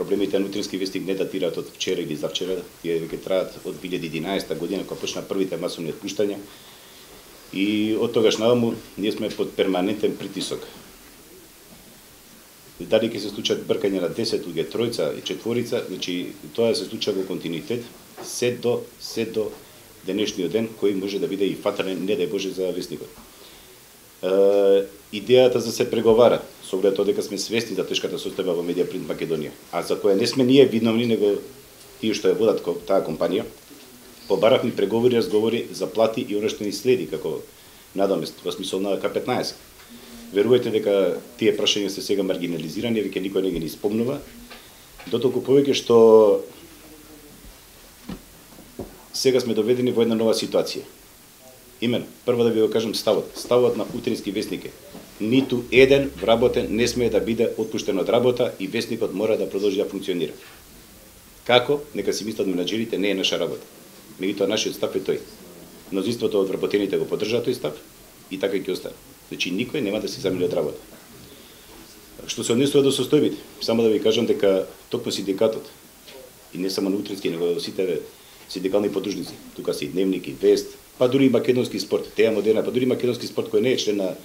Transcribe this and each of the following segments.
проблемите на Утрински вестник не датираат од вчера или завчера, тие веќе траат од 2011 година кога почна првите масовни отпуштања. И од тогаш наваму ние сме под перманентен притисок. Дали ќе се случат бркање на 10 луѓе, тројца и четворица, значи тоа се случува во континуитет се до денешниот ден, кој може да биде и фатален, не дај Боже, за вестникот. Идејата за се преговара, со оглед дека сме свесни за тешката состојба во Медиапринт Македонија, а за која не сме ние виновни, него тие што ја водат таа компанија, побаравме преговори, разговори за плати и оно што ни следи како надамест во смисол на К15. Верувајте дека тие прашања се сега маргинализирани, веќе никој не ги ни спомнува, дотолку повеќе што сега сме доведени во една нова ситуација. Именно, прво да ви го кажам ставот на Утрински вестник е: ниту еден вработен не смее да биде отпуштен од работа и вестникот мора да продолжи да функционира. Како? Нека си мислат менаџерите, не е наша работа. Меѓутоа нашиот став е тој. Мнозинството од вработените го поддржаа тој став и така ќе остане. Значи никој нема да се замине од работа. Што се однесува до состојбите, само да ви кажам дека токму синдикатот и не само на Утрински, него сите синдикални подружници, тука се и Дневник и Вест, па дури и Македонски спорт, теја модерна, па дури Македонски спорт кој не е член на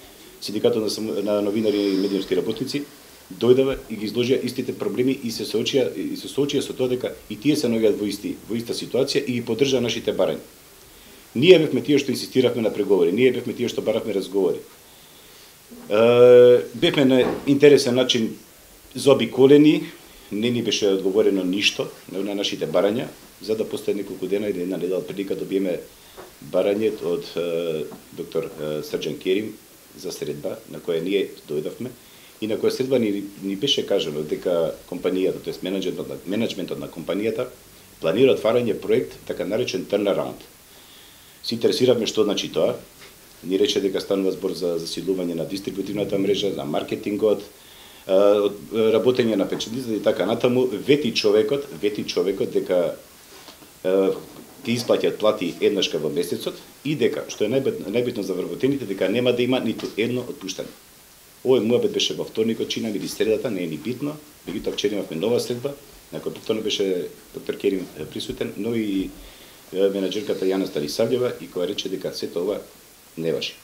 синдикатот на новинари и медиумски работници, дојдава и ги изложија истите проблеми и се соочија со тоа дека и тие се наоѓаат во иста ситуација и ги поддржаа нашите барања. Ние бевме тие што инсистиравме на преговори, ние бевме тие што баравме разговори. Бевме на интересен начин заобиколени, не ни беше одговорено ништо на нашите барања, за да после неколку дена или една недела прилика добиеме барање од доктор Срџан Керим за средба на која ние дојдовме и на која средба ни беше кажано дека компанијата, тоест менеджментот на компанијата планира отварање проект така наречен turnaround. Се интересиравме што значи тоа. Ни рече дека станува збор за засилување на дистрибутивната мрежа, за маркетингот, работење на печеницата и така натаму. Вети човекот дека ќе исплаќаат плати еднашка во месецот и дека, што е најбитно за вработените, дека нема да има ниту едно отпуштање. Овој муабет беше во вторникот, чинам, или средата, не е ни битно, меѓутоа вчера имавме нова средба, на која повторно беше доктор Керим присутен, но и менаџерката Јана Станисављева, и која рече дека сето ова не важи.